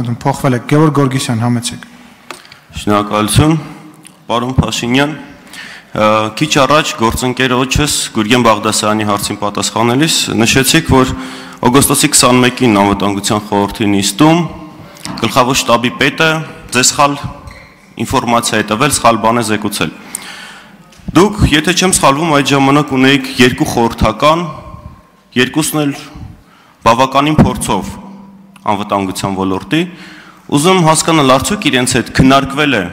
խնդրում, փոխվել եք, Գևորգ Գորգիսյան, համեցեք։ Շնորհակալություն, պարոն Փաշինյան, քիչ առաջ գործընկերոջս Գուրգեն Բաղդասարյանի հարցին պատասխանելիս նշեցիք, որ օգոստոսի 21-ին անվտանգության խորհրդի նիստում գլխավոր շտաբի պետը ձեզ սխալ ինֆորմացիա է տվել, սխալ բան է զեկուցել։ Դուք, եթե չեմ սխալվում, այդ ժամանակ ունեիք երկու խորհրդական, երկուսն էլ բավականին փորձով անվտանգության ոլորտի, ուզում հասկանալ արդյոք իրենց հետ քննարկվել է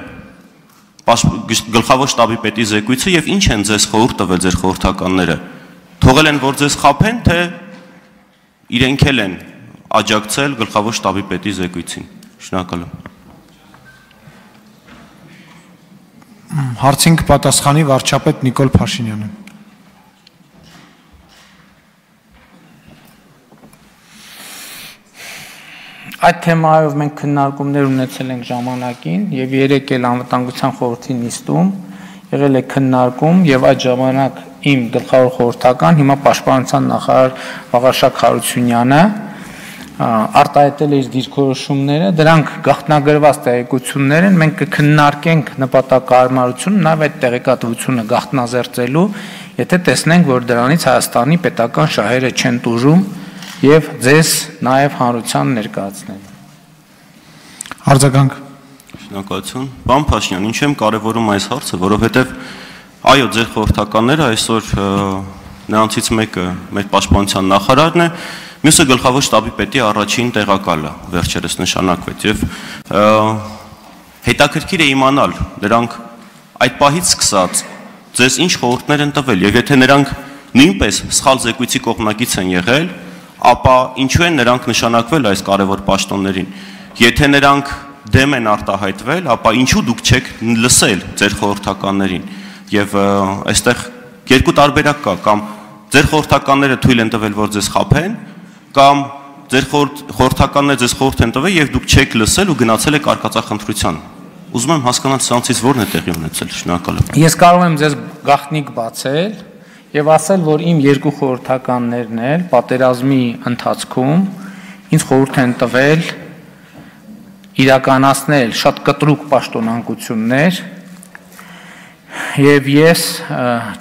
գլխավոր շտաբի պետի զեկույցը եւ ինչ են ձեզ խորհուրդ տվել ձեր խորհրդականները, թողել են, որ ձեզ խաբեն, թե իրենք էլ են աջակցել գլխավոր շտաբի պետի զեկույցին։ Շնորհակալ եմ։ Հարցին կպատասխանի վարչապետ Նիկոլ Փաշինյանը։ Այդ թեմայով մենք քննարկումներ ունեցել ենք ժամանակին եւ երեք էլ անվտանգության խորհրդի նիստում եղել է քննարկում եւ այդ ժամանակ իմ գլխավոր խորհրդական, հիմա պաշտպանության նախարար Վաղարշակ Հարությունյանը արտահայտել է իր դիրքորոշումները, դրանք գաղտնագրված տեղեկություններ են, մենք կքննարկենք նպատակահարմարությունը, նաեւ այդ տեղեկատվությունը գաղտնազերծելու, եթե տեսնենք, որ դրանից Հայաստանի պետական շահերը չեն տուժում եւ ձեզ նաեւ հանրության ներկայացնել։ Արձագանք։ Շնորհակալություն։ Պարոն Փաշինյան, ինչ եմ կարևորում այս հարցը, որովհետեւ այո, ձեր խորհրդականները այսօր նրանցից մեկը մեր պաշտպանության նախարարն է, մյուսը գլխավոր շտաբի պետի առաջին տեղակալը վերջերս նշանակվեց եւ հետաքրքիր է իմանալ նրանք այդ պահից սկսած ձեզ ինչ խորհուրդներ են տվել եւ եթե նրանք նույնպես սխալ զեկույցի կողմնակից են եղել, ապա ինչու են նրանք նշանակվել այս կարևոր պաշտոններին։ Եթե նրանք դեմ են արտահայտվել, ապա ինչու դուք չեք լսել ձեր խորհրդականներին։ Եվ այստեղ երկու տարբերակ կա, կամ ձեր խորհրդականները թույլ են տվել, որ ձեզ խաբեն, կամ ձեր խորհրդականները ձեզ խորհուրդ են տվել եւ դուք չեք լսել ու գնացել եք արկածախնդրության։ Ուզում եմ հասկանալ սրանցից ո՞րն է տեղի ունեցել։ Շնորհակալ եմ։ Ես կարող եմ ձեզ գաղտնիք բացել եւ ասել, որ իմ երկու խորհրդականներն էլ պատերազմի ընթացքում ինձ խորհուրդ են տվել իրականացնել շատ կտրուկ պաշտոնանկություններ եւ ես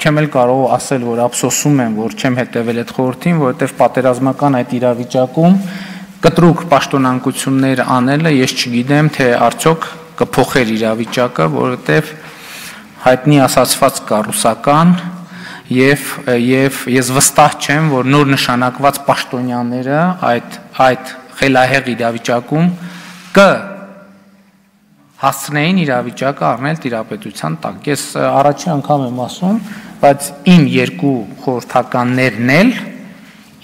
չեմ էլ կարող ասել, որ ափսոսում եմ, որ չեմ հետեւել այդ խորհրդին, որովհետեւ պատերազմական այդ իրավիճակում կտրուկ պաշտոնանկություններ անելը ես չգիտեմ, թե արդյոք կփոխեր իրավիճակը, որովհետեւ հայտնի ասացված կա ռուսական եւ ես վստահ չեմ, որ նոր նշանակված պաշտոնյաները այդ խելահեղ իրավիճակում հասցնեին իրավիճակը առնել տիրապետության տակ։ Ես առաջին անգամ եմ ասում, բայց իմ երկու խորհրդականներն էլ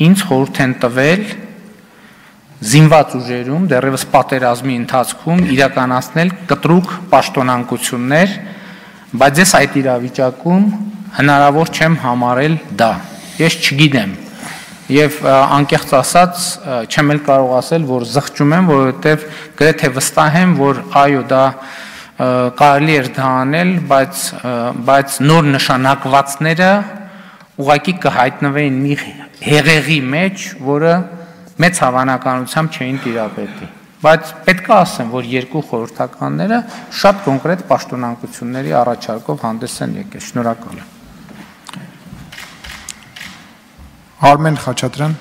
ինձ խորհուրդ են տվել զինված ուժերում դեռևս պատերազմի ընթացքում իրականացնել կտրուկ պաշտոնանկություններ, բայց ես այդ իրավիճակում հնարավոր չեմ համարել դա։ Ես չգիտեմ եւ անկեղծ ասած չեմ էլ կարող ասել, որ զղջում եմ, որովհետեւ գրեթե վստահ եմ, որ այո, դա կարելի էր դա անել, բայց նոր նշանակվածները ուղղակի կհայտնվեին մի հեղեղի մեջ, որը մեծ հավանականությամբ չէին տիրապետի։ Բայց պետք է ասեմ, որ երկու խորհրդականները շատ կոնկրետ պաշտոնանկությունների առաջարկով հանդես են եկել։ Շնորհակալ եմ։ Արմեն Խաչատրյան